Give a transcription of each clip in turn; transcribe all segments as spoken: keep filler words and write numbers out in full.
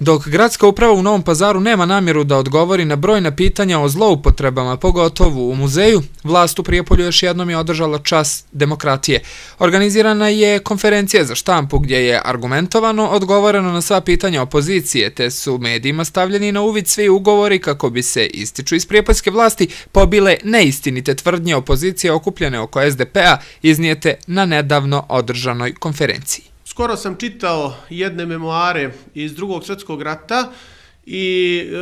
Dok gradska uprava u Novom Pazaru nema namjeru da odgovori na brojna pitanja o zloupotrebama, pogotovo u muzeju, vlast u Prijepolju još jednom je održala čas demokratije. Organizirana je konferencija za štampu gdje je argumentovano odgovoreno na sva pitanja opozicije, te su medijima stavljeni na uvid svi ugovori kako bi se, ističu iz prijepoljske vlasti, pobile neistinite tvrdnje opozicije okupljene oko es de pe a iznijete na nedavno održanoj konferenciji. Skoro sam čitao jedne memoare iz Drugog svjetskog rata i e,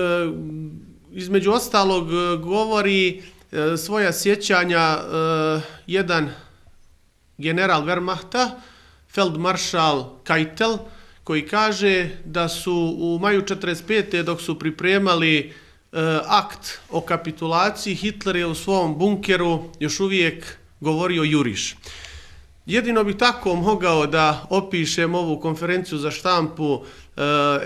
između ostalog govori e, svoja sjećanja e, jedan general Wehrmachta, feldmaršal Keitel, koji kaže da su u maju četrdeset pete dok su pripremali e, akt o kapitulaciji, Hitler je u svom bunkeru još uvijek govorio juriš. Jedino bih tako mogao da opišem ovu konferenciju za štampu e,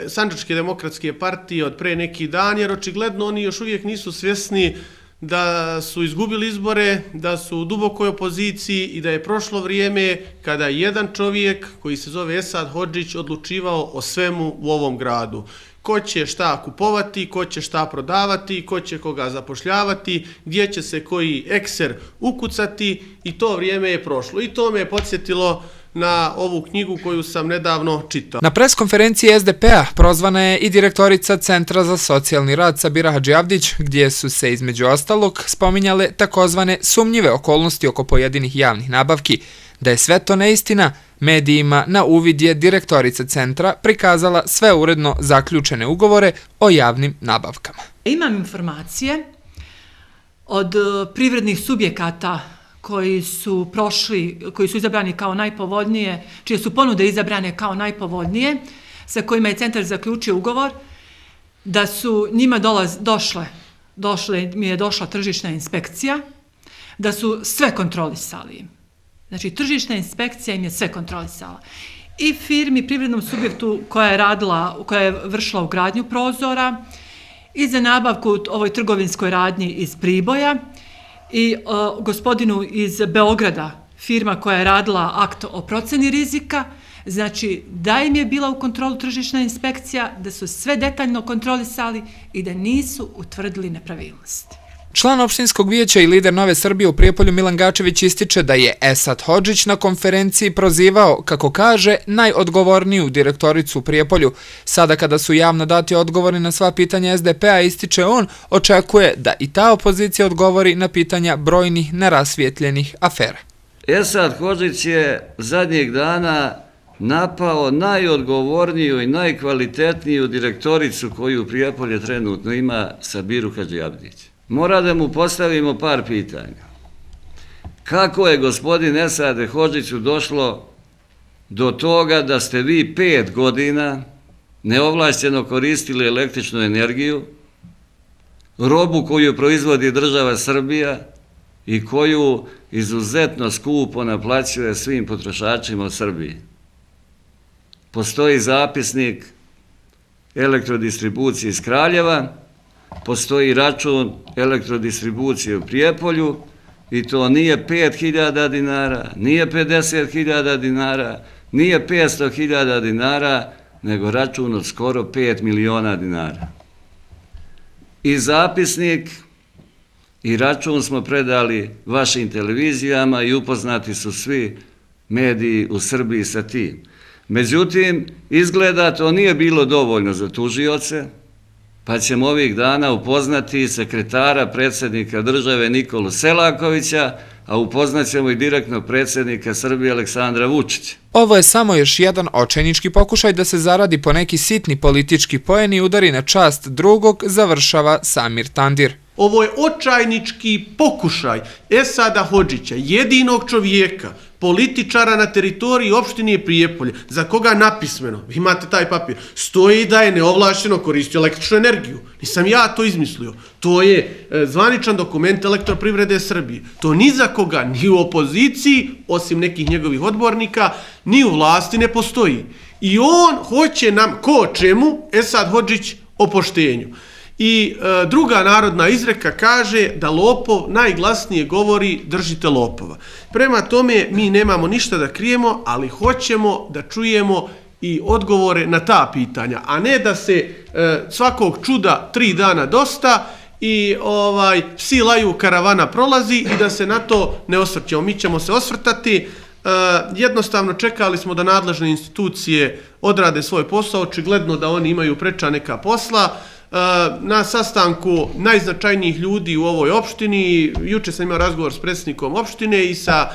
Sandžačke demokratske partije od pre neki dan, jer očigledno oni još uvijek nisu svjesni da su izgubili izbore, da su u dubokoj opoziciji i da je prošlo vrijeme kada je jedan čovjek koji se zove Esad Hodžić odlučivao o svemu u ovom gradu. Ko će šta kupovati, ko će šta prodavati, ko će koga zapošljavati, gdje će se koji ekser ukucati i to vrijeme je prošlo. I to me je podsjetilo na ovu knjigu koju sam nedavno čitao. Na preskonferenciji es de pe a prozvana je i direktorica Centra za socijalni rad Sabira Hadžiavdić, gdje su se između ostalog spominjale takozvane sumnjive okolnosti oko pojedinih javnih nabavki. Da je sve to neistina, medijima na uvid je direktorica centra prikazala sve uredno zaključene ugovore o javnim nabavkama. Imam informacije od privrednih subjekata koji su prošli, koji su izabrani kao najpovoljnije, čije su ponude izabrane kao najpovoljnije, sa kojima je centar zaključio ugovor, da su njima dolaz, došle, došle, mi je došla tržišna inspekcija, da su sve kontrolisali. Znači, tržišna inspekcija im je sve kontrolisala. I firmi, privrednom subjektu koja je radila, koja je vršila ugradnju prozora, i za nabavku ovoj trgovinskoj radnji iz Priboja, i o, gospodinu iz Beograda, firma koja je radila akt o proceni rizika, znači da im je bila u kontrolu tržišna inspekcija, da su sve detaljno kontrolisali i da nisu utvrdili nepravilnosti. Član opštinskog vijeća i lider Nove Srbije u Prijepolju Milan Gačević ističe da je Esad Hodžić na konferenciji prozivao, kako kaže, najodgovorniju direktoricu u Prijepolju. Sada kada su javno dati odgovori na sva pitanja es de pe a, ističe on, očekuje da i ta opozicija odgovori na pitanja brojnih nerasvijetljenih afera. Esad Hodžić je zadnjih dana napao najodgovorniju i najkvalitetniju direktoricu koju u Prijepolje trenutno ima, Sabiru Hadžiavdić. Mora da mu postavimo par pitanja. Kako je gospodin Esade Hodžiću došlo do toga da ste vi pet godina neovlašćeno koristili električnu energiju, robu koju proizvodi država Srbija i koju izuzetno skupo naplaćuje svim potrošačima u Srbiji? Postoji zapisnik elektrodistribucije iz Kraljeva, postoji račun elektrodistribucije u Prijepolju i to nije pet hiljada dinara, nije pedeset hiljada dinara, nije petsto hiljada dinara, nego račun od skoro pet miliona dinara. I zapisnik i račun smo predali vašim televizijama i upoznati su svi mediji u Srbiji sa tim. Međutim, izgleda to nije bilo dovoljno za tužioce, pa ćemo ovih dana upoznati sekretara predsjednika države Nikolu Selakovića, a upoznat ćemo i direktno predsjednika Srbije Aleksandra Vučića. Ovo je samo još jedan očajnički pokušaj da se zaradi po neki sitni politički poen i udari na čast drugog, završava Samir Tandir. Ovo je očajnički pokušaj Esada Hodžića, jedinog čovjeka, političara na teritoriji opštine Prijepolje, za koga napismeno, vi imate taj papir, stoji da je neovlašćeno koristio električnu energiju. Nisam ja to izmislio. To je zvaničan dokument Elektroprivrede Srbije. To ni za koga, ni u opoziciji, osim nekih njegovih odbornika, ni u vlasti ne postoji. I on hoće nam, ko čemu, Esad Hodžić o poštenju. I e, druga narodna izreka kaže da lopov najglasnije govori držite lopova. Prema tome mi nemamo ništa da krijemo, ali hoćemo da čujemo i odgovore na ta pitanja, a ne da se e, svakog čuda tri dana dosta i ovaj psi laju, karavana prolazi i da se na to ne osvrćemo. Mi ćemo se osvrtati. E, jednostavno čekali smo da nadležne institucije odrade svoj posao, očigledno da oni imaju preča neka posla. Na sastanku najznačajnijih ljudi u ovoj opštini, juče sam imao razgovor s predsjednikom opštine i sa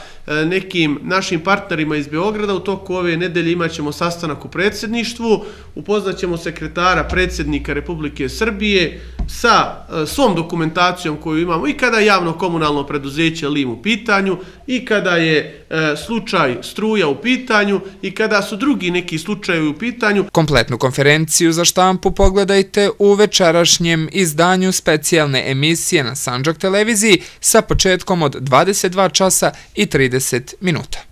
nekim našim partnerima iz Beograda, u toku ove nedelje imat ćemo sastanak u predsjedništvu, upoznaćemo sekretara predsjednika Republike Srbije sa svom dokumentacijom koju imamo i kada je javno komunalno preduzeće Lim u pitanju i kada je slučaj struja u pitanju i kada su drugi neki slučajevi u pitanju. Kompletnu konferenciju za štampu pogledajte u večerašnjem izdanju specijalne emisije na Sandžak televiziji sa početkom od dvadeset dva časa i trideset minuta.